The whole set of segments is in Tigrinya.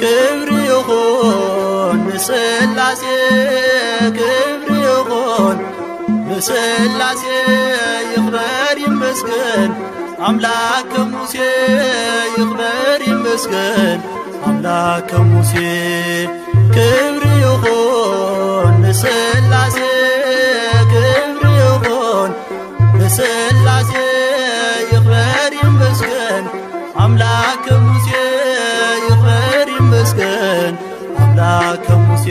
ክብሪ ይኹን ንስላሴ፣ ክብሪ ይኹን ንስላሴ፣ ይኽበር ይመስገን ኣምላክ ከሙሴ፣ ይኽበር ይመስገን ኣምላክ ከሙሴ። ክብሪ ይኹን ንስላሴ፣ ክብሪ ይኹን ንስላሴ፣ ይኽበር ይመስገን ኣምላክ ከሙሴ፣ ይኽበር ይመስገን ኣምላክ ከሙሴ።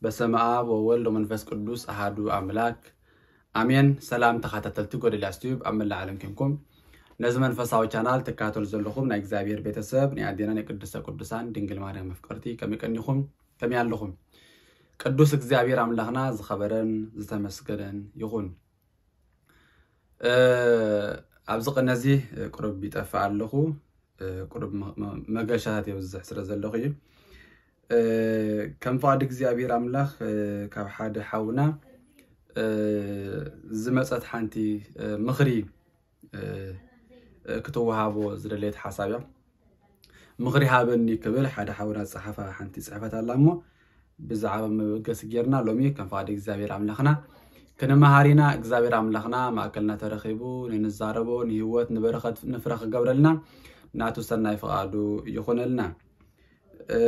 በስመ አብ ወወልድ ወመንፈስ ቅዱስ አሃዱ አምላክ አሜን። ሰላም ተኻታተልቲ ጎደልያስ ቲዩብ ኣብ መላእ ዓለም ኮንኩም ነዚ መንፈሳዊ ቻናል ትካተሉ ዘለኹም ናይ እግዚኣብሔር ቤተሰብ፣ ናይ ኣዴና ናይ ቅድስተ ቅዱሳን ድንግል ማርያም መፍቀርቲ ከመይ ቀኒኹም? ከመይ ኣለኹም? ቅዱስ እግዚኣብሔር ኣምላኽና ዝኸበረን ዝተመስገነን ይኹን። እ፣ ኣብዚ ቅነ እዚ ቁሩብ ይጠፍእ ኣለኹ። እ፣ ቁሩብ መ-፣ መ-፣ መገሻታት የብዝሕ ስለ ዘለኹ እዩ። እ፣ ከም ፍቓድ እግዚኣብሔር ኣምላኽ፣ እ፣ ካብ ሓደ ሓውና፣ እ፣ ዝመጸት ሓንቲ፣ እ፣ ምኽሪ፣ እ፣ እ፣ ክትወሃቦ ዝደለየት ሓሳብ እያ። ምኽሪ ሃበኒ ክብል ሓደ ሓውና ዝጸሓፋ ሓንቲ ጽሕፈት ኣላ እሞ፣ ብዛዕባ መበገሲ ጌርና ሎሚ ከም ፍቓድ እግዚኣብሔር ኣምላኽና ክንመሃር ኢና። እግዚኣብሔር ኣምላኽና ማእከልና ተረኺቡ ንንዛረቦ ንህይወት ንበረኸት ንፍረ ክገብረልና ናቱ ሰናይ ፍቓዱ ይኹነልና። እ፣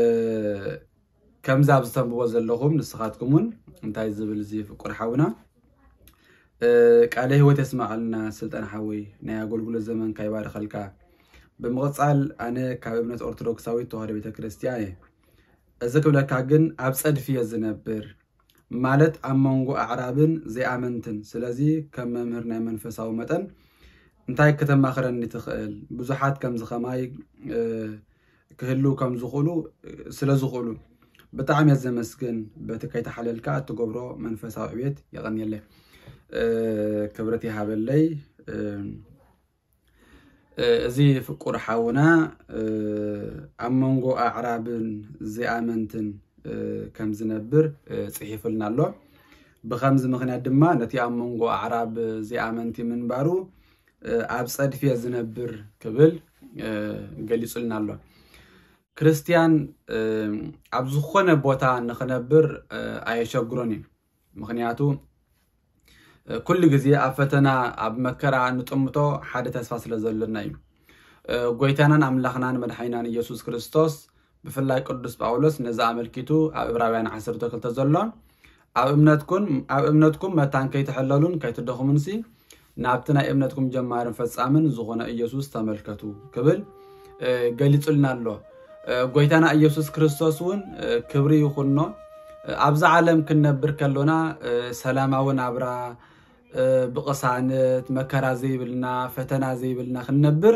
ከምዚ ኣብዚ ተንብቦ ዘለኹም ንስኻትኩም እውን እንታይ ዝብል እዚ ፍቁር ሓውና፣ እ፣ ቃለ ህይወት የስማዓልና ስልጣን ሓወይ፣ ናይ ኣገልግሎት ዘመንካ ይባርኸልካ። ብምቕጻል ኣነ ካብ እምነት ኦርቶዶክሳዊት ተዋህዶ ቤተ ክርስቲያን እየ። እዚ ክብለካ ግን ኣብ ጸድፊ እየ ዝነብር፣ ማለት ኣብ መንጎ ኣዕራብን ዘይኣመንትን። ስለዚ ከም መምህር ናይ መንፈሳዊ መጠን እንታይ ከተማኽረኒ ትኽእል? ብዙሓት ከምዚ ኸማይ፣ እ፣ ክህልው ከም ዝኽእሉ፣ እ፣ ስለ ዝኽእሉ ብጣዕሚ እየ ዘመስግን። በቲ ከይተሓለልካ እትገብሮ መንፈሳዊ ዕቤት የቐንየለይ። እ፣ ክብረት ይሃበለይ። እ፣ እ፣ እዚ ፍቁር ሓውና፣ እ፣ ኣብ መንጎ ኣዕራብን ዘይኣመንትን፣ እ፣ ከም ዝነብር፣ እ፣ ጽሒፉልና ኣሎ። ብኸምዚ ምኽንያት ድማ ነቲ ኣብ መንጎ ኣዕራብ ዘይኣመንቲ ምንባሩ፣ እ፣ ኣብ ጸድፊ እየ ዝነብር ክብል፣ እ፣ ገሊጹልና ኣሎ። ክርስትያን፣ እ፣ ኣብ ዝኾነ ቦታ ንኽነብር፣ እ፣ ኣየሸግሮን እዩ። ምኽንያቱ፣ እ፣ ኩሉ ግዜ ኣብ ፈተና፣ ኣብ መከራ እንጥምቶ ሓደ ተስፋ ስለ ዘሎና እዩ። እ፣ ጎይታናን ኣምላኽናን መድሓኒናን ኢየሱስ ክርስቶስ፣ ብፍላይ ቅዱስ ጳውሎስ ነዚ ኣመልኪቱ ኣብ ዕብራውያን ዓሰርተ ክልተ ዘሎ፣ ኣብ እምነትኩም፣ ኣብ እምነትኩም መታን ከይትሕለሉን ከይትደኽሙንሲ፣ ናብቲ ናይ እምነትኩም ጀማርን ፈጻምን ዝኾነ ኢየሱስ ተመልከቱ ክብል፣ እ፣ ገሊጹልና ኣሎ። እ፣ ጎይታና ኢየሱስ ክርስቶስ እውን፣ እ፣ ክብሪ ይኹኖ፣ እ፣ ኣብዛ ዓለም ክንነብር ከሎና፣ እ፣ ሰላማዊ ናብራ፣ እ፣ ብቕሳነት፣ መከራ ዘይብልና፣ ፈተና ዘይብልና ክንነብር፣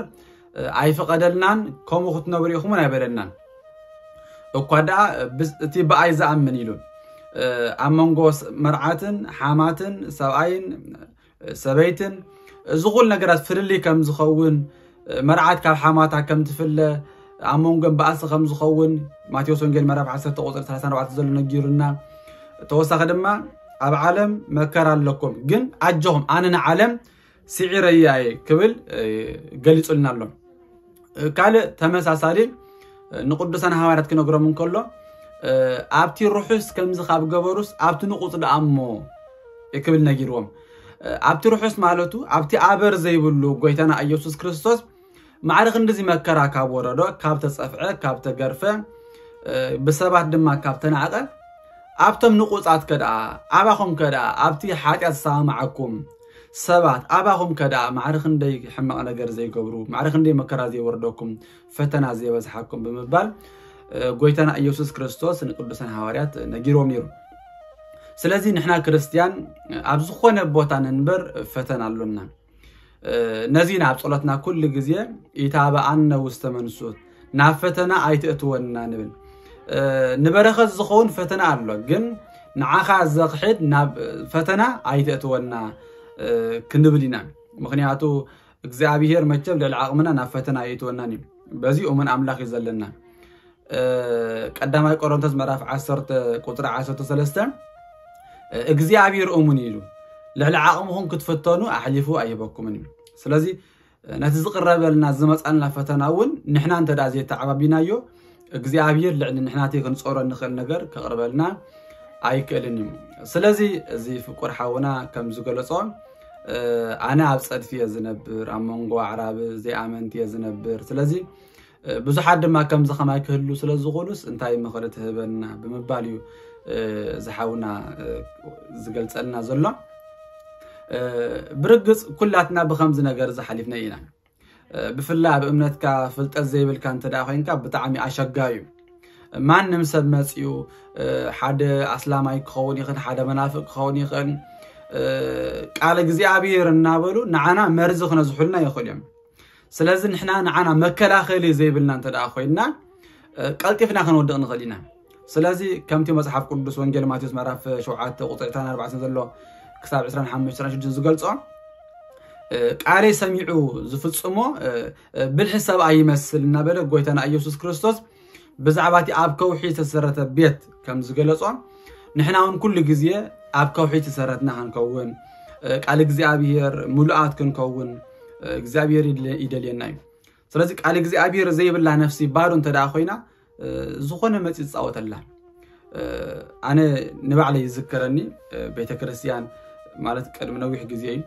እ፣ ኣይፈቐደልናን፣ ከምኡ ክትነብሩ ኢኹም እውን ኣይበለናን። እኳ ደኣ፣ እ፣ ብስ-፣ እቲ ብኣይ ዝኣምን ኢሉ፣ እ፣ ኣብ መንጎ ስ-፣ መርዓትን ሓማትን፣ ሰብኣይን፣ እ፣ ሰበይትን፣ እዚ ኩሉ ነገራት ፍልልይ ከም ዝኸውን፣ እ፣ መርዓት ካብ ሓማታ ከም ትፍለ፣ ኣብ መንጎን ባእሲ ከም ዝኸውን፣ ማቴዎስ ወንጌል ምዕራፍ ዓሰርተ ቁጽሪ ሰላሳን ኣርባዕተን ዘሎ ነጊሩና። ተወሳኺ ድማ፣ ኣብ ዓለም መከራ ኣለኩም፣ ግን ኣጆኹም፣ ኣነ ንዓለም ስዒረያ እየ ክብል፣ እ፣ ገሊጹልና ኣሎ። እ፣ ካልእ ተመሳሳሊ፣ እ፣ ንቅዱሳን ሃዋርያት ክነግሮም እንከሎ፣ እ፣ ኣብቲ ርሑስ ከምዚ ካብ ገበሩስ ኣብቲ ንቁጽ ደኣ እሞ ክብል ነጊርዎም። እ፣ ኣብቲ ርሑስ ማለቱ ኣብቲ ኣበር ዘይብሉ ጎይታና ኢየሱስ ክርስቶስ ማዕረ ክንድዚ መከራ ካብ ወረዶ፣ ካብ ተጸፍዐ፣ ካብ ተገርፈ፣ እ፣ ብሰባት ድማ ካብ ተናዕቐ፣ ኣብቶም ንቁጻት ከደኣ፣ ኣባኹም ከደኣ፣ ኣብቲ ሓጢኣት ዝሰማማዓኩም ሰባት፣ ኣባኹም ከደኣ፣ ማዕረ ክንደይ ሕማቕ ነገር ዘይገብሩ፣ ማዕረ ክንደይ መከራ ዘይወርደኩም፣ ፈተና ዘይበዝሓኩም ብምባል፣ እ፣ ጎይታና ኢየሱስ ክርስቶስ ንቅዱሳን ሃዋርያት ነጊርዎም ነይሩ። ስለዚ ንሕና ክርስትያን ኣብ ዝኾነ ቦታ ንንበር ፈተና ኣሎና። እ፣ ነዚ ኢና ኣብ ጸሎትና ኩሉ ግዜ "ኢታብኣነ ውስተ መንሱት፣ ናብ ፈተና ኣይትእትወና" ንብል። እ፣ ንበረኸት ዝኸውን ፈተና ኣሎ፣ ግን ንዓኻ ዘኽሕድ ናብ ፈተና ኣይትእትወና፣ እ፣ ክንብል ኢና። ምኽንያቱ እግዚኣብሄር መቸም ልዕሊ ዓቕምና ናብ ፈተና ኣይእትወናን እዩ። በዚ እሙን ኣምላኽ እዩ ዘለና። ቀዳማይ ቆሮንቶስ ምዕራፍ ዓሰርተ ቁፅሪ ዓሰርተ ሰለስተ እግዚኣብሔር እሙን እዩ ኢሉ፣ ልዕሊ ዓቕምኹም ክትፍተኑ ኣሕሊፉ ኣይህበኩምን እዩ። ስለዚ ነቲ ዝቕረበልና ዝመፃልና ፈተና እውን ንሕና እንተ ደኣ ዘይተዓባቢናዮ እግዚኣብሔር ልዕሊ ንሕናቲ ክንፀሮ እንኽእል ነገር ከቕርበልና ኣይክእልን እዩ። ስለዚ እዚ ፍቁር ሓውና ከም ዝገለጾ ኣነ ኣብ ጸድፊ እየ ዝነብር፣ ኣብ መንጎ ኣዕራብ ዘይኣመንቲ እየ ዝነብር። ስለዚ ብዙሓት ድማ ከምዚ ከማይ ክህሉ ስለ ዝኾኑስ እንታይ ምኽሪ ትህበና ብምባል እዩ ዝሓውና ዝገልጸልና ዘሎ። ብርግጽ ኩላትና ብኸምዚ ነገር ዝሓሊፍና ኢና። ብፍላይ ኣብ እምነትካ ፍልጠት ዘይብልካ እንተ ደኣ ኮይንካ ብጣዕሚ ኣሸጋሪ እዩ። ማንም ሰብ መጺኡ ሓደ ኣስላማይ ክኸውን ይኽእል፣ ሓደ መናፍቅ ክኸውን ይኽእል። ቃል እግዚኣብሔር እናበሉ ንዓና መርዚ ክነዝሑልና ይኽእሉ እዮም። ስለዚ ንሕና ንዓና መከላኸሊ ዘይብልና እንተ ደኣ ኮይንና ቀልጢፍና ክንወድቕ ንኽእል ኢና። ስለዚ ከምቲ መጽሓፍ ቅዱስ ወንጌል ማቴዎስ ምዕራፍ ሸውዓተ ቁጽሪ ዕስራን ኣርባዕተን ዘሎ ክሳብ ዕስራን ሓሙሽተን ዝገልጾ ቃለይ ሰሚዑ ዝፍጽሞ ብልሒ ሰብኣይ ይመስል እናበለ ጎይታና ኢየሱስ ክርስቶስ ብዛዕባ እቲ ኣብ ከውሒ ዝተሰረተ ቤት ከም ዝገለጾ ንሕና እውን ኩሉ ግዜ ኣብ ከውሒ ዝተሰረትና ክንከውን ቃል እግዚኣብሔር ምሉኣት ክንከውን እግዚኣብሔር ይደልየና እዩ። ስለዚ ቃል እግዚኣብሔር ዘይብላ ነፍሲ ባዶ እንተ ደኣ ኮይና ዝኾነ መፂ ዝፃወተላ። ኣነ ንባዕለይ ይዝከረኒ ቤተ ክርስቲያን ማለት ቅድሚ ነዊሕ ግዜ እዩ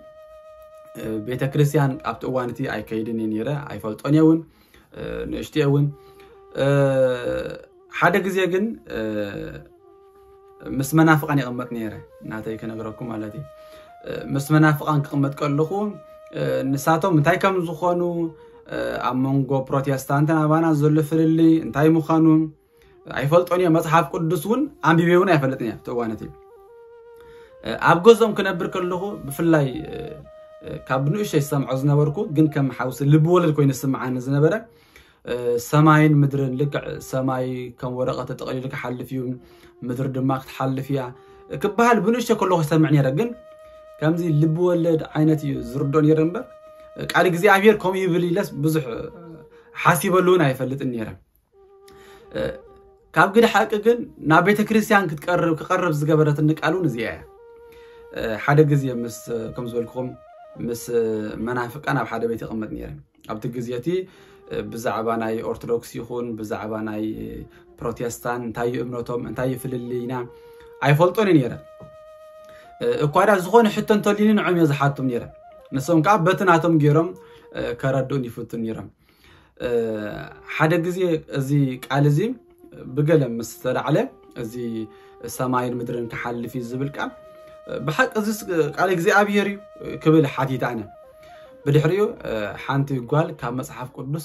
ቤተ ክርስቲያን ኣብቲ እዋን እቲ ኣይከይድን እየ ነይረ፣ ኣይፈልጦን እየ እውን ንእሽትዮ እውን ሓደ ግዜ ግን ምስ መናፍቃን ይቕመጥ ነይረ። ናተይ ክነግረኩም ማለት እዩ። ምስ መናፍቃን ክቕመጥ ከለኹ ንሳቶም እንታይ ከም ዝኾኑ ኣብ መንጎ ፕሮቴስታንትን ኣባና ዘሎ ፍልልይ እንታይ ምዃኑ ኣይፈልጦን እየ። መጽሓፍ ቅዱስ እውን ኣንቢበ እውን ኣይፈልጥን እየ ኣብቲ እዋን እቲ። ኣብ ገዝኦም ክነብር ከለኹ ብፍላይ ካብ ንእሽተይ ዝሰምዖ ዝነበርኩ ግን ከም ሓውሲ ልቢ ወለድ ኮይኑ ዝስምዓኒ ዝነበረ ሰማይን ምድርን ልክዕ ሰማይ ከም ወረቐት ተጠቕሊሉ ክሓልፍ እዩ፣ ምድሪ ድማ ክትሓልፍ እያ ክበሃል ብንእሽተይ ከለኹ ይሰምዕ ነይረ። ግን ከምዚ ልቢ ወለድ ዓይነት እዩ ዝርድኦ ነይረ እምበር ቃል እግዚኣብሔር ከምኡ ይብል ኢለስ ብዙሕ ሓሲበሉ እውን ኣይፈልጥን ነይረ። ካብ ግዲ ሓቂ ግን ናብ ቤተ ክርስቲያን ክትቀርብ ክቐርብ ዝገበረትኒ ቃል እውን እዚኣ እያ። ሓደ ግዜ ምስ ከም ዝበልኩኹም ምስ መናፍቃን ኣብ ሓደ ቤት ይቕመጥ ነይረ። ኣብቲ ግዜ እቲ ብዛዕባ ናይ ኦርቶዶክስ ይኹን ብዛዕባ ናይ ፕሮቴስታን እንታይ እዩ እምነቶም እንታይ እዩ ፍልልይና ኣይፈልጦን እየ ነይረ። እኳ ዳ ዝኾነ ሕቶ እንተልዩኒ ንዖም እየ ዝሓቶም ነይረ። ንሶም ከዓ በቲ ናቶም ገይሮም ከረድኡን ይፍቱን ነይሮም። ሓደ ግዜ እዚ ቃል እዚ ብገለ ምስ ተላዕለ እዚ ሰማይን ምድርን ክሓልፍ እዩ ዝብል ቃል ብሓቂ እዚ ቃል እግዚኣብሔር እዩ ክብል ሓቲት ኣነ። ብድሕሪኡ ሓንቲ ጓል ካብ መጽሓፍ ቅዱስ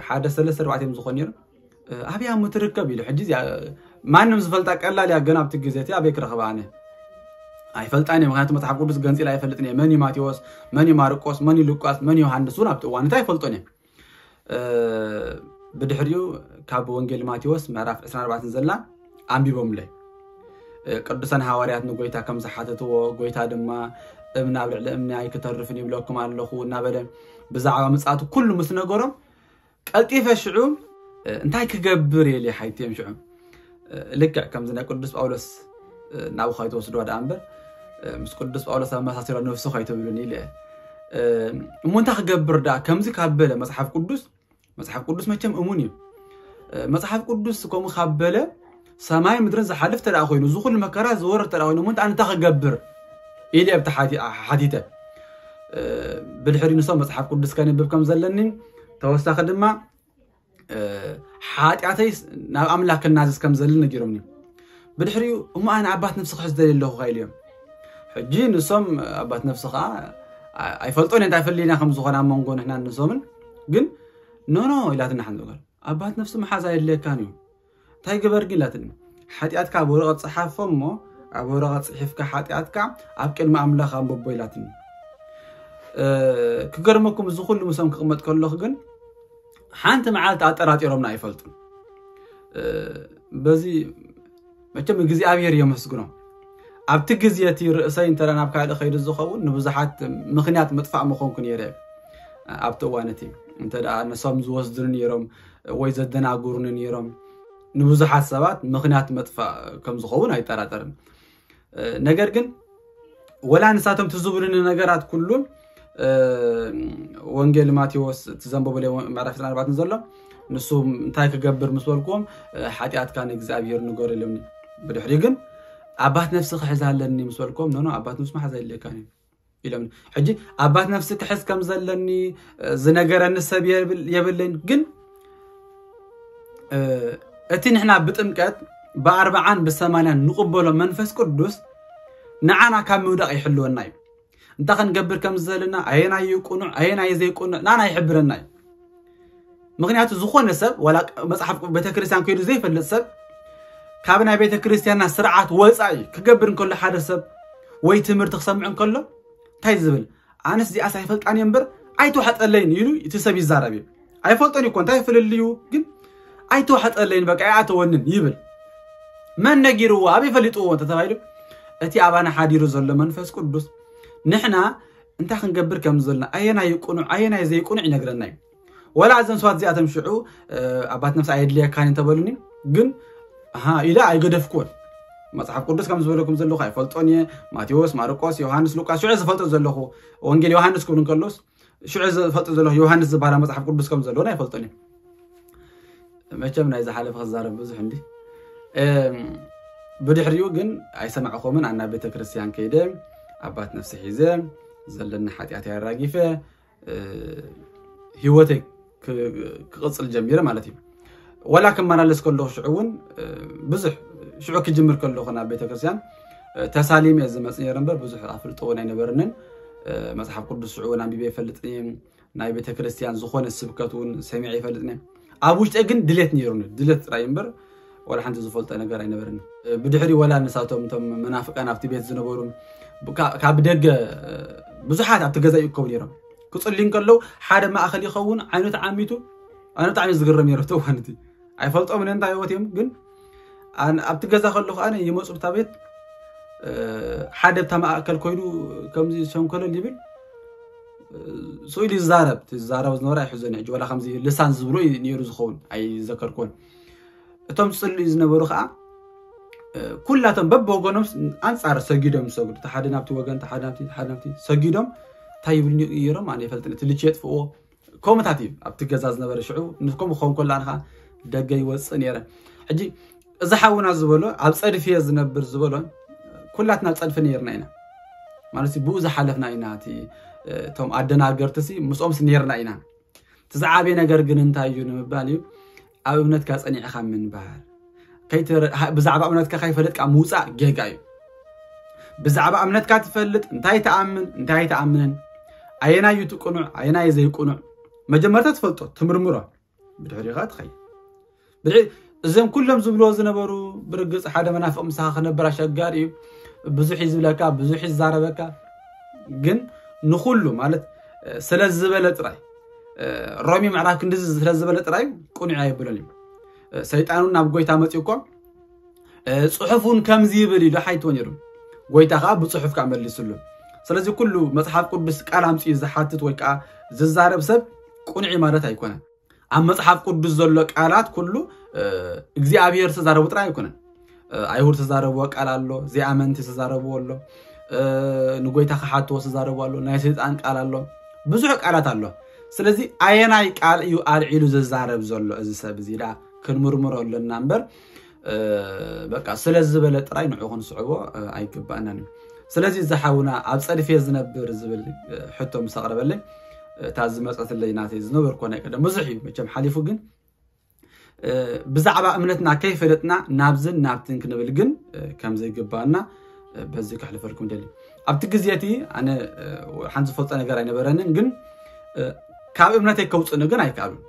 ሓደ ሰለስተ ኣርባዕተ እዮም ዝኾኑ ነይሮም። ኣብያ እሞ ትርከብ ኢሉ ሕጂ እዚኣ ማንም ዝፈልጣ ቀላል እያ። ገና ኣብቲ ግዜ እቲ ኣበይ ክረኽባ ኣነ ኣይፈልጣን እየ። ምክንያቱ መጽሓፍ ቅዱስ ገንፂላ ኣይፈልጥን እየ። መን እዩ ማቴዎስ፣ መን እዩ ማርቆስ፣ መን እዩ ሉቃስ፣ መን እዩ ዮሃንስ እውን ኣብቲ እዋን እቲ ኣይፈልጦን እየ። ብድሕሪኡ ካብ ወንጌል ማቴዎስ ምዕራፍ ዕስራን ኣርባዕተን ዘላ ኣንቢቦምለይ። ቅዱሳን ሃዋርያት ንጎይታ ከም ዝሓተትዎ ጎይታ ድማ እምኒ ኣብ ልዕሊ እምኒ ኣይክተርፍን ይብለኩም ኣለኹ እናበለ ብዛዕባ ምጽኣቱ ኩሉ ምስ ነገሮም ቀልጢፈ ሽዑ እንታይ ክገብር እየ ኢለ ሓቲተ እዮም ሽዑ። ልክዕ ከምዚ ናይ ቅዱስ ጳውሎስ ናብኡ ከይትወስድዋ ደኣ እምበር ምስ ቅዱስ ጳውሎስ ኣመሳሲሎ ነፍሱ ከይትብሉኒ ኢለ እየ። እሞ እንታይ ክገብር ደኣ ከምዚ ካብ በለ መጽሓፍ ቅዱስ መጽሓፍ ቅዱስ መቸም እሙን እዩ። መጽሓፍ ቅዱስ ከምኡ ካብ በለ ሰማይ ምድርን ዝሓልፍ ተደኣ ኮይኑ እዚ ኩሉ መከራ ዝወርድ ተደኣ ኮይኑ እሞ እንታይ እንታይ ክገብር ኢለ ኣብቲ ሓቲተ። ብድሕሪ ንሶም መጽሓፍ ቅዱስ ከንብብ ከም ዘለኒ ተወሳኺ ድማ ሓጢኣተይ ናብ ኣምላኽ ክናዘዝ ከም ዘሊ ነጊሮምኒ። ብድሕሪኡ እሞ ኣነ ኣባት ነፍሲ ክሕዝ ደልየ ኣለኹ ኢለ እዮም። ሕጂ ንሶም ኣባት ነፍሲ ከዓ ኣይፈልጦን እንታይ ፍልይና ከም ዝኾነ ኣብ መንጎ ንሕና ንሶምን ግን ኖኖ ኢላትና ሓንቲ ጓል ኣባት ነፍሲ መሓዝ ኣየድልየካን እዩ እንታይ ግበር ግን ኢላትኒ። ሓጢኣትካ ኣብ ወረቐት ፀሓፎ እሞ ኣብ ወረቐት ፅሒፍካ ሓጢኣትካ ኣብ ቅድሚ ኣምላኽ ኣንብቦ ኢላትኒ። ክገርመኩም እዚ ኩሉ ምሶም ክቕመጥ ከለኹ ግን ሓንቲ መዓልቲ ኣጠራጢሮምና ኣይፈልጡን። በዚ መቸም እግዚኣብሔር የመስግኖ። ኣብቲ ግዜ እቲ ርእሰይ እንተ ናብ ካልእ ከይዱ ዝኸውን ንብዙሓት ምኽንያት ምጥፋእ ምኾንኩ ነይረ። ኣብቲ እዋን እቲ እንተ ንሶም ዝወስዱኒ ነይሮም ወይ ዘደናግሩኒ ነይሮም። ንብዙሓት ሰባት ምኽንያት መጥፋእ ከም ዝኸውን ኣይጠራጠርን። ነገር ግን ወላ ንሳቶም ትዝብሉኒ ነገራት ኩሉ፣ ወንጌል ማቴዎስ ትዘንበበሉ ምዕራፍ ዕስራን ኣርባዕተን ዘሎ፣ ንሱ እንታይ ክገብር ምስ በልኩዎም፣ ሓጢኣትካ ንእግዚኣብሔር ንገር ኢሎምኒ። ብድሕሪኡ ግን ኣባት ነፍሲ ክሕዝ ኣለኒ ምስ በልኩዎም፣ ኖኖ፣ ኣባት ነፍሲ መሓዝ ኣይድልየካን እዩ ኢሎም። ሕጂ ኣባት ነፍሲ ክሕዝ ከም ዘለኒ ዝነገረኒ ሰብ የብል- የብለይን። ግን እቲ ንሕና ብጥምቀት ብኣርባዓን ብሰማንያን ንቕበሎ መንፈስ ቅዱስ ንዓና ካብ ምውዳቕ ይሕልወና እዩ። እንታይ ክንገብር ከም ዘለና፣ ኣየናይ እዩ ቅኑዕ ኣየናይ ዘይቅኑዕ ናና ይሕብረና እዩ። ምክንያቱ ዝኾነ ሰብ ዋላ መፅሓፍ ቤተክርስትያን ከይዱ ዘይፈልጥ ሰብ ካብ ናይ ቤተክርስትያንና ስርዓት ወፃኢ ክገብር እንከሎ ሓደ ሰብ ወይ ትምህርቲ ክሰምዕ እንከሎ እንታይ ዝብል ኣነስ እዚኣስ ኣይፈልጣን እየ እምበር ኣይተዋሕጠለይን ኢሉ እቲ ሰብ ይዛረብ እዩ። ኣይፈልጦን እኮ እንታይ ፍልልዩ ግን ኣይተዋሕጠለይን በቃ ኣይኣተወንን ይብል። መን ነጊርዎ ኣበይ ፈሊጥዎ እንተተባሂሉ እቲ ኣባና ሓዲሩ ዘሎ መንፈስ ቅዱስ ንሕና እንታይ ክንገብር ከም ዘለና ኣየናይ ቅኑዕ ኣየናይ ዘይቅኑዕ ይነግረና እዩ። ወላ እዘን ሰባት እዚኣቶም ሽዑ ኣባት ነፍሲ ኣየድልየካን እንተበሉኒ ግን ኣሃ ኢለ ኣይገደፍኩዎን። መፅሓፍ ቅዱስ ከም ዝበለኩም ዘለኹ ኣይፈልጦን እየ። ማቴዎስ፣ ማርቆስ፣ ዮሃንስ፣ ሉቃስ ሽዑ ዝፈልጦ ዘለኹ ወንጌል ዮሃንስ ክብል እንከሎስ ሽዑ ዝፈልጦ ዘለኹ ዮሃንስ ዝበሃል መፅሓፍ ቅዱስ ከም ዘለዎን ኣይፈልጦን እየ። መቸም ናይ ዝሓለፈ ክዛረብ ብዙሕ እንዲ ብድሕሪኡ ግን ኣይሰማዕኹምን ኣና ቤተ ክርስቲያን ከይደ ኣባት ነፍሲ ሒዘ ዘለኒ ሓጢኣት ኣራጊፈ ህይወተይ ክቕፅል ጀሚረ ማለት እዩ። ወላ ክመላለስ ከለኹ ሽዑ እውን ብዙሕ ሽዑ ክጅምር ከለኹ ናብ ቤተክርስትያን ተሳሊም እየ ዝመፅ ነይረ እምበር ብዙሕ ኣፍልጦ እውን ኣይነበረንን። መፅሓፍ ቅዱስ ሽዑ እውን ኣንቢበ ይፈልጥ ናይ ቤተክርስትያን ዝኾነ ስብከት እውን ሰሚዐ ይፈልጥ ነ ኣብ ውሽጠ ግን ድሌት ነይሩኒ ድሌት ጥራይ እምበር ወላ ሓንቲ ዝፈልጦ ነገር ኣይነበረኒ። ብድሕሪ ወላ ንሳቶም እቶም መናፍቃን ኣብቲ ቤት ዝነበሩ ካብ ደገ ብዙሓት ኣብቲ ገዛ ይእከቡ ነይሮም። ክፅሊ እንከለዉ ሓደ ማእኸል ይኸውን ዓይኑ ተዓሚቱ ኣነ ብጣዕሚ ዝግረም ነይረ ተዋንቲ ኣይፈልጦም እንታይ ህይወት እዮም ግን ኣብቲ ገዛ ከለኹ ኣነ ይመፁ ብታ ቤት ሓደ ብታ ማእከል ኮይኑ ከምዚ ሸንኮለል ይብል ስኢሉ ይዛረብ ዝዛረብ ዝነበረ ኣይሕዞን ሕጂ ወላ ከምዚ ልሳን ዝብሎ ነይሩ ዝኸውን ኣይዘከርኩን። እቶም ዝፅልዩ ዝነበሩ ከዓ ኩላቶም በብወገኖም ኣንፃር ሰጊዶም ዝሰግዱ ሓደ ናብቲ ወገን ሓደ ናብቲ ሓደ ናብቲ ሰጊዶም እንታይ ይብሉ ነይሮም ኣነ ይፈልጥ እቲ ልቺ የጥፍዎ ከምኡታት እዩ ኣብቲ ገዛ ዝነበረ ሽዑ ንከምኡ ክኸውን ከሎ ኣነ ከዓ ደገ ይወፅእ ነይረ። ሕጂ እዚ ሓውና ዝበሎ ኣብ ፀድፊ እየ ዝነብር ዝበሎ ኩላትና ኣብ ፀድፊ ነይርና ኢና ማለት ብኡ ዝሓለፍና ኢና እቲ እቶም ኣደናገርቲ ሲ ምስኦምስ ነይርና ኢና። እቲ ዝዓበየ ነገር ግን እንታይ እዩ ንምባል እዩ ኣብ እምነትካ ፀኒዕኻ ምንባር ብዛዕባ እምነትካ ከይፈለጥካ ምውፃእ ጌጋ እዩ። ብዛዕባ እምነትካ ትፈልጥ እንታይ ትኣምን እንታይ ኣይትኣምንን ኣየናይ እዩ ትቅኑዕ ኣየናይ ዘይቅኑዕ መጀመርታ ትፈልጦ ትምርምሮ ብድሕሪኻ ትኸይድ ብድሕሪ እዞም ኩሎም ዝብልዎ ዝነበሩ ብርግፅ ሓደ መናፍቕ ምሳኻ ክነብር ኣሸጋሪ እዩ። ብዙሕ እዩ ዝብለካ ብዙሕ እዩ ዝዛረበካ ግን ንኩሉ ማለት ስለ ዝበለ ጥራይ ሮሚ ምዕራፍ ክንድዚ ስለ ዝበለ ጥራይ ቅኑዕ ኣይብሎን እዩ። ሰይጣን እውን ናብ ጎይታ መፂኡ እኮ ፅሑፍ እውን ከምዚ ይብል ኢሉ ሓይትዎ ነይሩ። ጎይታ ከዓ ብፅሑፍ ከዓ መሊስሉ። ስለዚ ኩሉ መፅሓፍ ቅዱስ ቃል ኣምፅኡ ዝሓትት ወይ ከዓ ዝዛረብ ሰብ ቁንዒ ማለት ኣይኮነን። ኣብ መፅሓፍ ቅዱስ ዘሎ ቃላት ኩሉ እግዚኣብሔር ዝተዛረቡ ጥራይ ኣይኮነን። ኣይሁድ ዝተዛረብዎ ቃል ኣሎ፣ ዘይኣመንቲ ዝተዛረብዎ ኣሎ፣ ንጎይታ ክሓትዎ ዝተዛረብዎ ኣሎ፣ ናይ ሰይጣን ቃል ኣሎ፣ ብዙሕ ቃላት ኣሎ። ስለዚ ኣየናይ ቃል እዩ ኣልዒሉ ዝዛረብ ዘሎ እዚ ሰብ እዚ ዳ ክንምርምሮ ኣለና እምበር በቃ ስለ ዝበለ ጥራይ ንዑ ክንስዕቦ ኣይግባእናን እዩ። ስለዚ እዚ ሓውና ኣብ ፀድፊ ዝነብር ዝብል ሕቶ ምስ ኣቕረበለይ እታ ዝመፀትለይ ናተይ ዝነበርኮ ናይ ቀደም ብዙሕ እዩ መቸም ሓሊፉ ግን ብዛዕባ እምነትና ከይፈለጥና ናብዝን ናብትን ክንብል ግን ከም ዘይግባና በዚ ከሕልፈልኩም ደሊ። ኣብቲ ግዜ እቲ ኣነ ሓንቲ ዝፈልጦ ነገር ኣይነበረንን ግን ካብ እምነተይ ከውፅእኒ ግን ኣይከኣሉን።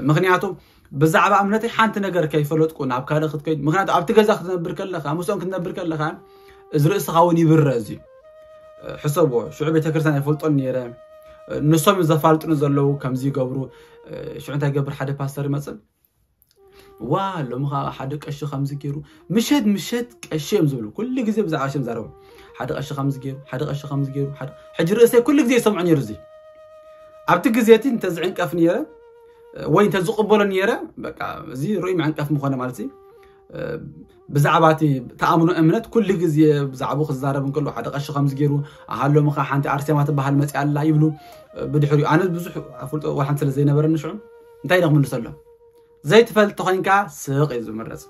ምክንያቱ ብዛዕባ እምነተይ ሓንቲ ነገር ከይፈለጥኩ ናብ ካልእ ክትከይድ ምክንያቱ ኣብቲ ገዛ ክትነብር ከለካ ምስኦም ክትነብር ከለካ እዚ ርእስኻ እውን ይብረ እዚ ሕሰብዎ ሽዑ ቤተክርስትያን ኣይፈልጦን ነይረ። ንሶም ዘፋልጥኑ ዘለዉ ከምዚ ይገብሩ። ሽዑ እንታይ ገብር ሓደ ፓስተር ይመፅእ ዋ ሎሚ ከዓ ሓደ ቀሺ ከምዚ ገይሩ ምሸት ምሸት ቀሺ እዮም ዝብሉ ኩሉ ግዜ ብዛዕባ ቀሺ እዮም ዛረቡ ሓደ ቀሺ ከምዚ ገይሩ ሓደ ቀሺ ከምዚ ገይሩ ሓደ ሕጂ ርእሰይ ኩሉ ግዜ ይሰምዖ ነይሩ እዚ ኣብቲ ግዜ እቲ እንተዝዕንቀፍ ነይረ ወይ እንተ ዝቕበሎ ነይረ በቃ እዚ ርኡይ መዕንቀፍ ምኾነ ማለት እዩ። ብዛዕባ እቲ ተኣምኖ እምነት ኩሉ ግዜ ብዛዕባኡ ክዛረብ እንከሎ ሓደ ቀሺ ከምዚ ገይሩ ኣሃሎ ምኻ ሓንቲ ኣርሴማ ትበሃል መፅያ ኣላ ይብሉ። ብድሕሪኡ ኣነ ብዙሕ ኣፍልጦ ዋላ ሓንቲ ስለ ዘይነበረኒ ሽዑ እንታይ ኢለ ክምልሰሎም? ዘይትፈልጥ ተኾይንካ ስቕ እዩ ዝምረፅ።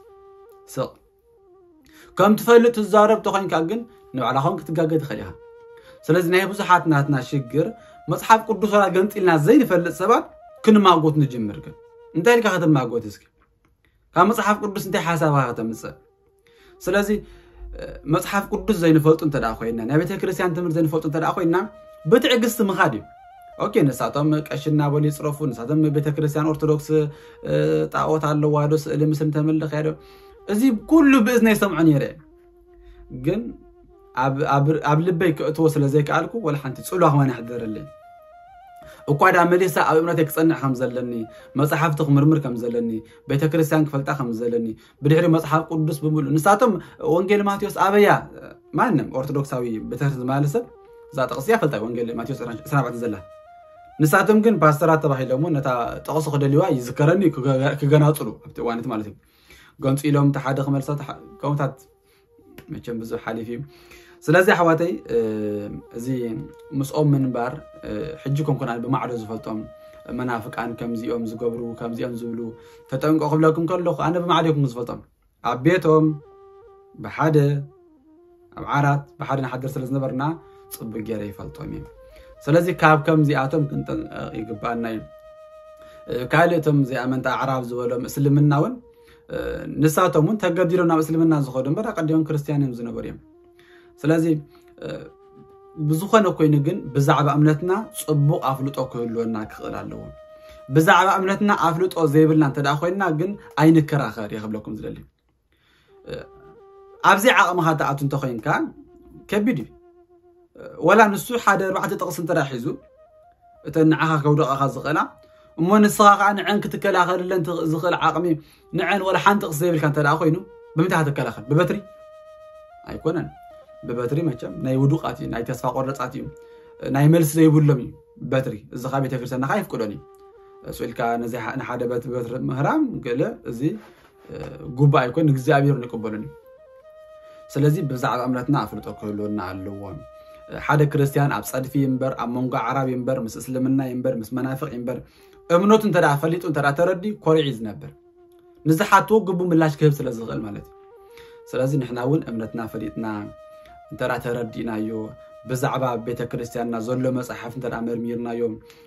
ስቕ ከም ትፈልጥ ትዛረብ ተኾይንካ ግን ንባዕላኻ እውን ክትጋገ ትኽእል ኢኻ። ስለዚ ናይ ብዙሓት ናትና ሽግር መፅሓፍ ቅዱስ ዋላ ገንፂልና ዘይንፈልጥ ሰባት ክንማጎት ንጅምር። ግን እንታይ ኢልካ ከተማጎት እስኪ? ካብ መፅሓፍ ቅዱስ እንታይ ሓሳብካ ከተምፅእ? ስለዚ መፅሓፍ ቅዱስ ዘይንፈልጡ እንተ ኮይና ናይ ቤተ ክርስቲያን ትምህርቲ ዘይንፈልጡ እንተ ኮይና ብትዕግስቲ ምኻድ እዩ። ኦኬ ንሳቶም ቀሺ እናበሉ ይፅረፉ፣ ንሳቶም ቤተ ክርስቲያን ኦርቶዶክስ ጣዖት ኣለዋ ዶ ስእሊ ምስል እንተምልኽ ዶ እዚ ኩሉ ብእዝነይ ይሰምዖ ነይረ። ግን ኣብ ልበይ ክእትዎ ስለ ዘይከኣልኩ ወላ ሓንቲ ፅልዋ ክመን ኣሕደረለይ። እኳ ዳ መሊሳ ኣብ እምነተይ ክፀንዕ ከም ዘለኒ፣ መፅሓፍቲ ክምርምር ከም ዘለኒ፣ ቤተክርስትያን ክፈልጣ ከም ዘለኒ፣ ብድሕሪ መፅሓፍ ቅዱስ ብምሉእ ንሳቶም ወንጌል ማቴዎስ ኣበያ ማንም ኦርቶዶክሳዊ ቤተክርስትያን ዝማለ ሰብ እዛ ጥቕሲ እያ ፈልጣ ወንጌል ማቴዎስ ዕስራን ኣርባዕተን ዘላ። ንሳቶም ግን ፓስተራት ተባሂሎም እውን ነታ ጥቕሲ ክደልዋ ይዝከረኒ ክገናፅሉ ኣብቲ እዋነት ማለት እዩ። ገንፂሎም እቲ ሓደ ክመልሳ ከምታት መቸም ብዙሕ ሓሊፍ እዩ። ስለዚ ኣሕዋተይ እዚ ምስኦም ምንባር ሕጂ ኮንኩን ኣነ ብማዕዶ ዝፈልጦም መናፍቃን ከምዚኦም ዝገብሩ ከምዚኦም ዝብሉ ተጠንቀ ክብለኩም ከለኹ ኣነ ብማዕዶ ይኩም ዝፈልጦም ኣብ ቤቶም ብሓደ ኣብ ዓራት ብሓደ ንሓድር ስለ ዝነበርና ፅቡቅ ገይረ ይፈልጦም እዩ። ስለዚ ካብ ከምዚኣቶም ክንጠንቀቕ ይግባኣና እዩ። ካልእ እቶም እዚኣ መንታ ኣዕራብ ዝበሎም እስልምና እውን ንሳቶም እውን ተገዲዶም ናብ እስልምና ዝኸዱ እምበር ኣቀዲሞም ክርስትያን እዮም ዝነበሩ እዮም። ስለዚ ብዝኾነ ኮይኑ ግን ብዛዕባ እምነትና ፅቡቕ ኣፍልጦ ክህልወና ክኽእል ኣለዎ። ብዛዕባ እምነትና ኣፍልጦ ዘይብልና እንተ ኮይንና ግን ኣይንከራኸር እየ ክብለኩም ዝደሊ። ኣብዚ ዓቕምኻ ትኣቱ እንተኮይንካ ከቢድ እዩ። ወላ ንሱ ሓደ ኣርባዕተ ጥቕሲ እንተ ሒዙ እተን ንዓኻ ከውደቓኻ ዝኽእላ እሞ ንስኻ ከዓ ንዐን ክትከላኸልለን ዝኽእል ዓቕሚ ንዐን ወላ ሓንቲ ጥቕሲ ዘይብልካ እንተ ኮይኑ ብምንታይ ትከላኸል? ብበትሪ ኣይኮነን። ብበትሪ መቸም ናይ ውዱቃት እዩ፣ ናይ ተስፋ ቆረፃት እዩ፣ ናይ መልሲ ዘይብሎም እዩ በትሪ። እዚ ከዓ ቤተክርስትያንካ ኣይፍቅዶን እዩ። እሱ ኢልካ ነዚ ንሓደ በትሪ ምህራም ገለ እዚ ጉባእ ኣይኮን እግዚኣብሔር ንቅበሉን እዩ። ስለዚ ብዛዕባ እምነትና ኣፍልጦ ክህልወና ኣለዎም። ሓደ ክርስትያን ኣብ ፀድፊ ይንበር ኣብ መንጎ ዓራብ ይንበር ምስ እስልምና ይንበር ምስ መናፍቅ ይንበር እምነቱ እንተ ፈሊጡ እንተ ተረዲ ኮሪዒ ዝነብር ንዝሓትዎ ግቡ ምላሽ ክህብ ስለ ዝኽእል ማለት እዩ። ስለዚ ንሕና እውን እምነትና ፈሊጥና እንተ ተረዲእናዮ ብዛዕባ ቤተክርስትያንና ዘሎ መፅሓፍ እንተ መርሚርናዮ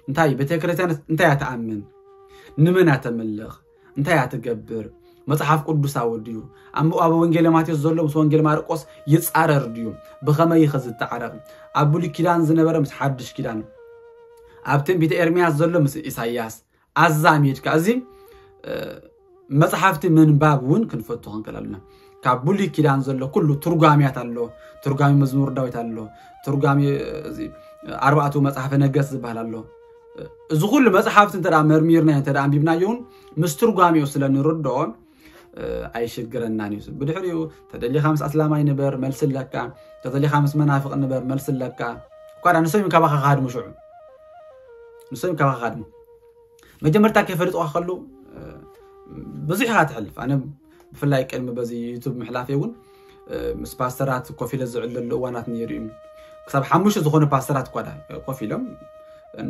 እንታይ ቤተክርስትያን እንታይ እያ ትኣምን ንመን እያ ተምልኽ እንታይ እያ ትገብር መፅሓፍ ቅዱሳዊ ድዩ ኣብ ወንጌል ማቴዎስ ዘሎ ምስ ወንጌል ማርቆስ ይፃረር ድዩ ብኸመይ ይኸ ዝተዓረቕ ኣብ ብሉይ ኪዳን ዝነበረ ምስ ሓድሽ ኪዳን ኣብ ትንቢተ ኤርምያስ ዘሎ ምስ ኢሳያስ ኣዛሚድካ እዚ መፅሓፍቲ ምንባብ እውን ክንፈቱ ክንክእል ኣለና። ካብ ብሉይ ኪዳን ዘሎ ኩሉ ትርጓሚያት ኣሎ። ትርጓሚ መዝሙር ዳዊት ኣሎ። ትርጓሚ ኣርባዕቱ መፅሓፈ ነገስት ዝበሃል ኣሎ። እዚ ኩሉ መፅሓፍቲ እንተ መርሚርና እንተ ኣንቢብናዮ እውን ምስ ትርጓሚኡ ስለ ንርድኦ ኣይሽግረናን እዩ። ብድሕሪኡ ተደሊኻ ምስ ኣስላማይ ንበር መልሲ ኣለካ፣ ተደሊኻ ምስ መናፍቕ ንበር መልሲ ኣለካ። እኳ ንሶም ካባኻ ክሃድሙ ሽዑ ንሶም ካባኻ ክሃድሙ መጀመርታ ከይፈልጥዋ ከሉ ብዙሕ ኢኻ ትሕልፍ። ኣነ ብፍላይ ቅድሚ በዚ ዩቱብ ምሕላፍ እውን ምስ ፓስተራት ኮፍ ኢለ ዝዕለሉ እዋናት ነይሩ እዩ። ክሳብ ሓሙሽተ ዝኾኑ ፓስተራት እኳ ኮፍ ኢሎም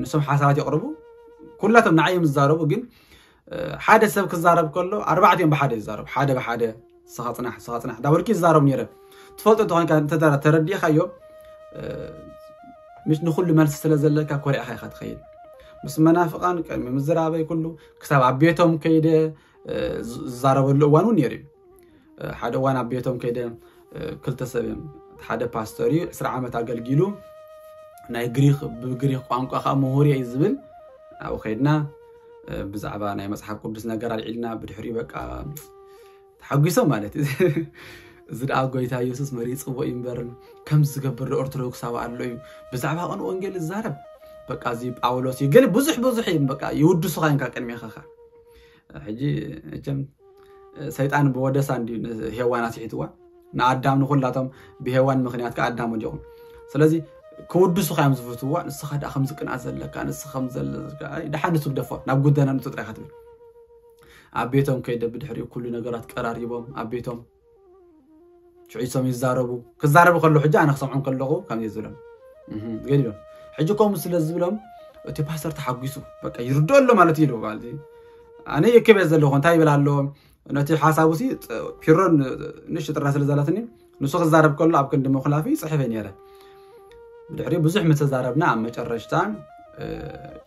ንሶም ሓሳባት የቕርቡ። ኩላቶም ንዓይ እዮም ዝዛረቡ፣ ግን ሓደ ሰብ ክዛረብ ከሎ ኣርባዕቲኦም ብሓደ ይዛረቡ። ሓደ ብሓደ ስኻ ፅናሕ ስኻ ፅናሕ እንዳበልኩ ይዛረቡ ነይረ። ትፈልጦ እንተኾንካ እንተ ተረዲእኻዮ ምሽ ንኩሉ መልሲ ስለ ዘለካ ኮሪዕኻ ኢኻ ትኸይድ። ምስ መናፍቃን ቅድሚ ምዝራበይ ኩሉ ክሳብ ኣብ ቤቶም ከይደ ዝዛረበሉ እዋን እውን ነይሩ እዩ። ሓደ እዋን ኣብ ቤቶም ከይደ ክልተ ሰብ እዮም። ሓደ ፓስተር እዩ ዕስራ ዓመት ኣገልጊሉ ናይ ግሪክ ብግሪክ ቋንቋ ከዓ ምሁር እዩ ዝብል ኣብኡ ከይድና ብዛዕባ ናይ መፅሓፍ ቅዱስ ነገር ኣልዒልና ብድሕሪኡ በቃ ተሓጒሶም ማለት እዩ። እዚ ደኣ ጎይታ የሱስ መሪፅዎ እዩ እምበር ከምዚ ዝገብር ዶ ኦርቶዶክሳዊ ኣሎ እዩ። ብዛዕባ ቅን ወንጌል ዝዛረብ በቃ እዚ ጳውሎስ እዩ ገለ ብዙሕ ብዙሕ እዩ በቃ ይውድሱኻ እንካ ቅድሜኻ ኸ ሕጂ እቸም ሰይጣን ብወደሳ እንዲ ሄዋን ኣስሒትዋ ንኣዳም ንኩላቶም ብሄዋን ምክንያት ከ ኣዳም ወዲቑ። ስለዚ ክውድሱኻ እዮም ዝፍትዋ። ንስኻ ደኣ ከምዚ ቅንኣት ዘለካ፣ ንስኻ ከምዚ ዘለካ፣ ኣይ፣ ደሓን ንሱ ግደፎ፣ ናብ ጉዳይና ንእቶ ጥራይ ኢኻ ትብል። ኣብ ቤቶም ከይደ ብድሕሪኡ ኩሉ ነገራት ቀራሪቦም፣ ኣብ ቤቶም ሽዑ ኢሶም ይዛረቡ። ክዛረቡ ከለዉ ሕጂ ኣነ ክሰምዖም ከለኹ ከምዚ ዝብሎም፣ እህ፣ ገሊሎም። ሕጂ ከምኡ ስለ ዝብሎም እቲ ፓስተር ተሓጒሱ፣ በቃ ይርድኦ ኣሎ ማለት እዩ ኢሉ፣ ማለት እዩ። ኣነ ይክብ እየ ዘለኹ፣ እንታይ ይብል ኣሎ? ነቲ ሓሳቡ ሲ ጥ-፣ ፒሮን ንእሽቶ ጥርና ስለ ዘላትኒ፣ ንሱ ክዛረብ ከሎ ኣብ ክንዲ ምኹላፊ ይጽሕፍ እየ ነይረ። ብድሕሪኡ ብዙሕ ምስ ተዛረብና፣ ኣብ መጨረሽታ፣ እ፣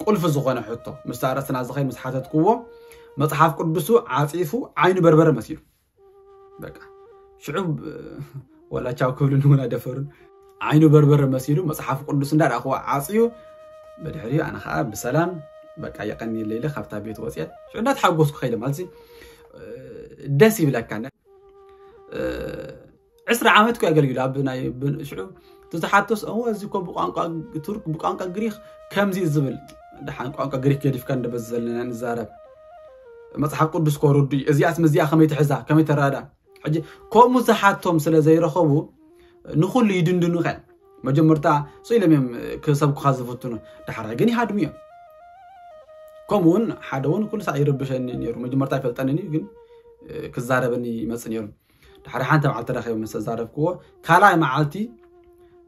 ቁልፊ ዝኾነ ሕቶ፣ ምስቲ ኣርእስትና ዝኸይድ ምስ ሓተትክዎ፣ መጽሓፍ ቅዱሱ ዓጺፉ ዓይኑ በርበረ መሲሉ። በቃ፣ ሽዑ፣ እ፣ ወላ ቻው ክብሉኒ እውን ኣይደፈሩን። ዓይኑ በርበረ መሲሉ፣ መጽሓፍ ቅዱስ እንዳረኣኽዎ ዓጽዩ፣ ብድሕሪኡ ኣነ ኸኣ ብሰላም፣ በቃ፣ የቐንየለይ ኢለ ካብታ ቤት ወጽየ። ሽዑ እንዳተሓጎስኩ ከይደ ማለት ሲ፣ እ፣ ደስ ይብለካ። እ፣ ዕስራ ዓመት እኮ የገልግሉ ኣብ ናይ ብ-፣ ሽዑ እቲ ዝሓቶስ፣ "እወ፣ እዚ እኮ ብቋንቋ ቱርክ፣ ብቋንቋ ግሪክ ከምዚ እዩ ዝብል." ደሓን ቋንቋ ግሪክ ገዲፍካ እንደ በዚ ዘለና ንዛረብ። መጽሓፍ ቅዱስ እኮ ርዱእ እዩ። እዚኣስ ምስዚኣ ከመይ ትሕዛ፣ ከመይ ተራዳ? ሕጂ ከምኡ ዝሓቶም ስለ ዘይረኸቡ ንኹሉ ይድንድኑኻ እዮም። መጀመርታ ስኢሎም እዮም ክሰብኩኻ ዝፍትኑ፣ ዳሕራይ ግን ይሃድሙ እዮም። ከምኡ እውን ሓደ እውን ኩሉ ሳዕ ይርብሸኒ ነይሩ። መጀመርታ ኣይፈልጠንን እዩ፣ ግን፣ እ፣ ክዛረበኒ ይመጽእ ነይሩ። ድሕሪ ሓንቲ መዓልቲ ተራኺቦም ምስ ተዛረብክዎ፣ ካልኣይ መዓልቲ፣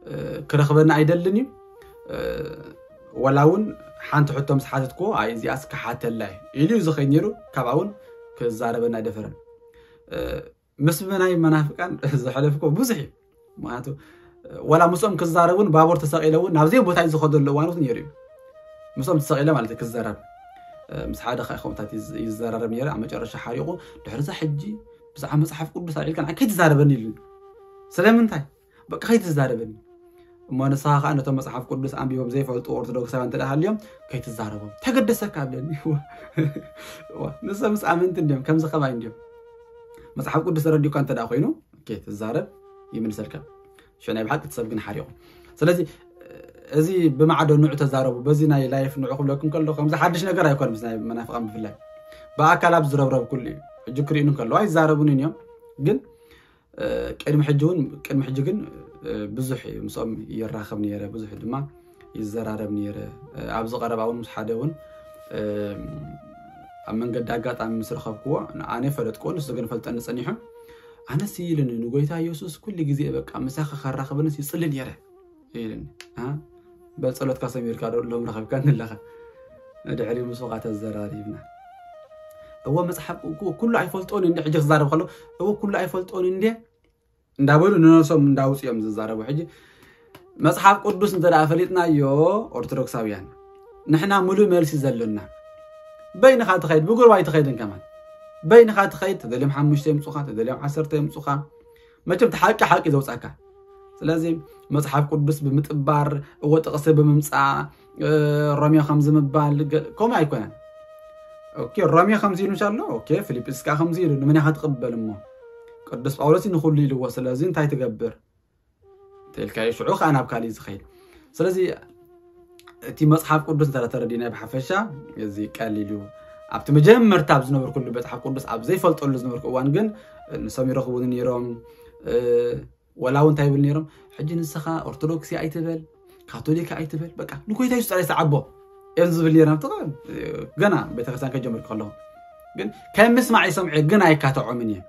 እ፣ ክረኽበኒ ኣይደልን እዩ። እ፣ ወላ እውን ሓንቲ ሕቶ ምስ ሓተትክዎ፣ "ኣይ፣ እዚኣስ ክሓተላ እየ" ኢሉ እዩ ዝኸይድ ነይሩ። ካብኣ እውን ክዛረበኒ ኣይደፈረን። እ፣ ምስ ናይ መናፍቃን ዘሕለፍክዎ ብዙሕ እዩ። ምኽንያቱ፣ እ፣ ወላ ምስኦም ክዛረብ እውን ባቡር ተሰቒለ እውን ናብ ዘይ ቦታ እዩ ዝኸደሉ እዋን እውን ነይሩ እዩ። ምስኦም ተሰቒለ ማለት እዩ ክዛረብ። እ፣ ምስ ሓደ ኻእ ከምኡታት ይዝ-፣ ይዘራረብ ነይረ። ኣብ መጨረሻ ሓሪቑ፣ "ድሕሪ እዛ ሕጂ ብዛዕባ መጽሓፍ ቅዱስ ኣልዒልካ ንዓይ ከይትዛረበኒ" ኢሉኒ። ስለምንታይ? በቃ ከይትዛረበኒ። እሞ ንስኻ ኸኣ ነቶም መጽሓፍ ቅዱስ ኣንቢቦም ዘይፈልጡ ኦርቶዶክሳውያን እንተ ደኣ ሃልዮም፣ "ከይትዛረቦም ተገደሰካ" ብለኒ። እዋ፣ እዋ፣ ንሶምስ ኣመንቲ እንድዮም፣ ከምዚ ከማይ እንድዮም። መጽሓፍ ቅዱስ ተረዲኡካ እንተ ደኣ ኮይኑ፣ ኦኬ፣ ትዛረብ፣ ይምልሰልካ። ሽዑ ናይ ብሓቂ እቲ ሰብ ግን ሓሪቑ። ስለዚ፣ እዚ ብማዕዶ ንዑ ተዛረቡ፣ በዚ ናይ ላይፍ ንዑ ክብለኩም ከሎ፣ ከምዚ ሓድሽ ነገር ኣይኮን ምስ ናይ መናፍቃን ብፍላይ። ብኣካል ኣብ ዝረብረብ ኩሉ እዩ። ሕጂ ክርእዩኒ ከለዉ ኣይዛረቡንን እዮም። ግን፣ እ፣ ቅድሚ ሕጂ እውን፣ ቅድሚ ሕጂ ግን፣ እ፣ ብዙሕ እዩ ምስኦም ይራኸብ ነይረ፣ ብዙሕ ድማ ይዘራረብ ነይረ። እ፣ ኣብዚ ቀረባ እውን ምስ ሓደ እውን፣ እ፣ ኣብ መንገዲ ኣጋጣሚ ምስ ረኸብክዎ፣ ኣነ ፈለጥክዎ፣ ንሱ ግን ፈልጠኒ ጸኒሑ። ኣነስ ኢሉኒ፣ ንጎይታ የሱስ ኩሉ ግዜ በቃ ምሳኻ ከራኽበንስ ይጽሊ ነይረ ኢሉኒ። አ? በል ጸሎትካ ሰሚርካ ዶ ሎም ረኸብካኒ ኣለኻ? ድሕሪ ምስኡ ኸኣ ተዘራሪብና። እወ መጽሓፍ እኮ ኩሉ ኣይፈልጦን እንደ ሕጂ ክዛረብ ከሎ፣ እወ ኩሉ ኣይፈልጦን እንደ እንዳበሉ ንነብሶም እንዳውጽኦም ዝዛረቡ። ሕጂ መጽሓፍ ቅዱስ እንተ ደኣ ፈሊጥናዮ ኦርቶዶክሳውያን፣ ንሕና ሙሉእ መልሲ ዘሎና። በይንኻ ትኸይድ፣ ብጉርባይ ትኸይድን ከማን። በይንኻ ትኸይድ፣ ተደልዮም ሓሙሽተ የምጹኻ፣ ተደልዮም ዓሰርተ የምጹኻ። መቸም እቲ ሓቂ ሓቂ ዘውጻካ። ስለዚ መጽሓፍ ቅዱስ ብምጥባር፣ እወ ጥቕሲ ብምምጻእ፣ እ፣ ሮሜ ከምዚ ምባል፣ ገ-፣ ከምኡ ኣይኮነን። ኦኬ፣ ሮሜ ከምዚ ኢሉ እንሻሎ፣ ኦኬ፣ ፊልጵስ ከኣ ከምዚ ኢሉ፣ ንመን ኢኻ ትቕበል እሞ? ቅዱስ ጳውሎስ ንኹሉ ኢልዎ፣ ስለዚ እንታይ ትገብር? ተልካዮ ሽዑ ከኣ ናብ ካሊእ ዝኸይድ። ስለዚ እቲ መጽሓፍ ቅዱስ እንተ ተረዲናዮ ብሓፈሻ፣ እዚ ቀሊል እዩ። ኣብቲ መጀመርታ ኣብ ዝነበርኩሉ መጽሓፍ ቅዱስ ኣብ ዘይፈልጠሉ ዝነበርኩ እዋን ግን፣ ንሶም ይረኽቡኒ ነይሮም። እ፣ ወላ እውን እንታይ ይብል ነይሮም፣ "ሕጂ ንስኻ ኦርቶዶክሲ ኣይትበል፣ ካቶሊክ ኣይትበል፣ በቃ ንጎይታ የሱስ ጥራይ ሰዓቦ" እዮም ዝብል ነይሮም። ኣብቲ ቀ-፣ ገና ቤተክርስትያን ከጀመርኩ ከለኹ። ግን ከም ምስማዕ ይሰምዑ፣ ግን ኣይካትዖምን እየ።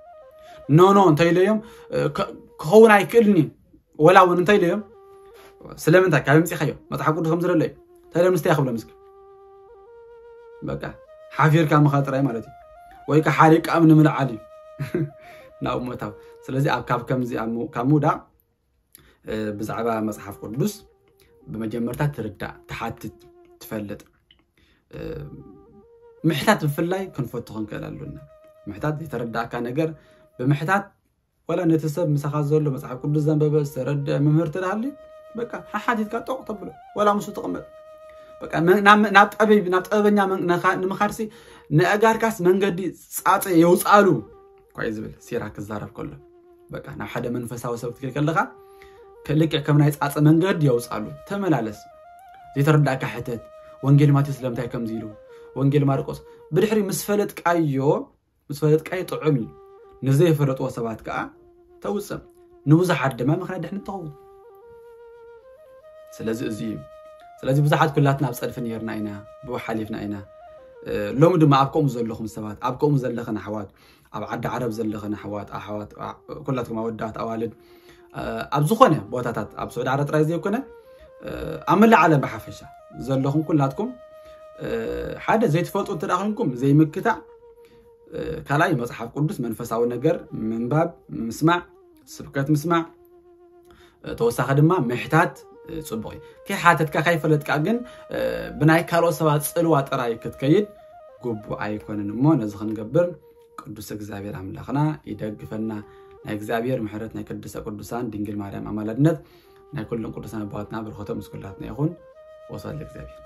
"ኖ፣ ኖ" እንተ ኢለዮም፣ እ፣ ከ-፣ ክኸውን ኣይክእልን እዩ። ወላ እውን እንታይ ኢለዮም፣ "ስለምንታይ ካብ ምጽኻዮ? መጽሓፍ ቅዱስ ከም ዝደለዩ እንታይ ኢሎም ንስተይ ክብሎም እስኪ?" በቃ ሓፊርካ ምኻድ ጥራይ ማለት እዩ። ወይ ከዓ ሓሪቃም ንምልዓል እዩ። ናብ ምእታው። ስለዚ ኣብ ካብ ከምዚ ኣብ ሙ-፣ ካብ ምውዳቕ፣ እ፣ ብዛዕባ መጽሓፍ ቅዱስ ብመጀመርታ ትርዳእ፣ ትሓትት፣ ትፈልጥ። እ፣ ምሕታት ብፍላይ ክንፈቱ ክንክእል ኣሎና። ምሕታት ዘይተረዳእካ ነገር ብምሕታት፣ ወላ ነቲ ሰብ ምሳኻ ዘሎ መጽሓፍ ቅዱስ ዘንበበ፣ ዝተረድአ መምህር ተደሃሊ፣ በቃ ሓሓቲትካ ጦቕ ተብሎ፣ ወላ ምስኡ ትቕመጥ። በቃ መ-፣ ናብ፣ ናብ ጠቢብ፣ ናብ ጥበበኛ መን-፣ ነኻ-፣ ንምኻድሲ ንኣእጋርካስ መንገዲ ጻጸ የውጽኣሉ እኳ እዩ ዝብል ሲራክ ክዛረብ ከሎ። በቃ ናብ ሓደ መንፈሳዊ ሰብ ክትከይድ ከለኻ፣ ከ-፣ ልክዕ ከም ናይ ጻጸ መንገዲ የውጽኣሉ። ተመላለስ። ዘይተረዳእካ ሕተት። ወንጌል ማቴዎስ ስለምንታይ ከምዚ ኢሉ? ወንጌል ማርቆስ? ብድሕሪ ምስ ፈለጥካዮ፣ ምስ ፈለጥካዮ ጥዑም እዩ። ንዘይፈለጥዎ ሰባት ከኣ ተውጽእ። ንብዙሓት ድማ ምኽንያት ድሕነት ትኸውን። ስለዚ እዚ እዩ። ስለዚ ብዙሓት ኩላትና ኣብ ጸድፊ ነርና ኢና፣ ብኡ ሓሊፍና ኢና። ሎሚ ድማ ኣብ ከምኡ ዘለኹም ሰባት፣ ኣብ ከምኡ ዘለኽን ኣሕዋት፣ ኣብ ዓዲ ዓረብ ዘለኽን ኣሕዋት ኣሕዋት ኩላትኩም ኣወዳት ኣዋልድ፣ ኣብ ዝኾነ ቦታታት ኣብ ስዑዲ ዓረብ ጥራይ ዘይኮነ ኣብ መላእ ዓለም ብሓፈሻ ዘለኹም ኩላትኩም ሓደ ዘይትፈልጡ እንተ ደኣ ኮይንኩም ዘይምክታዕ፣ ካልኣይ መጽሓፍ ቅዱስ መንፈሳዊ ነገር ምንባብ፣ ምስማዕ፣ ስብከት ምስማዕ፣ ተወሳኺ ድማ ምሕታት ጽቡቕ እዩ። ከይሓተትካ ከይፈለጥካ ግን ብናይ ካልኦት ሰባት ጽልዋ ጥራይ ክትከይድ ግቡእ ኣይኮነን እሞ ነዚ ክንገብር ቅዱስ እግዚኣብሔር ኣምላኽና ይደግፈና። ናይ እግዚኣብሔር ምሕረት፣ ናይ ቅድስተ ቅዱሳን ድንግል ማርያም ኣማላድነት፣ ናይ ኩሎም ቅዱሳን ኣባዋትና በረኸቶም ምስ ኩላትና ይኹን። ወስብሐት ለእግዚኣብሔር።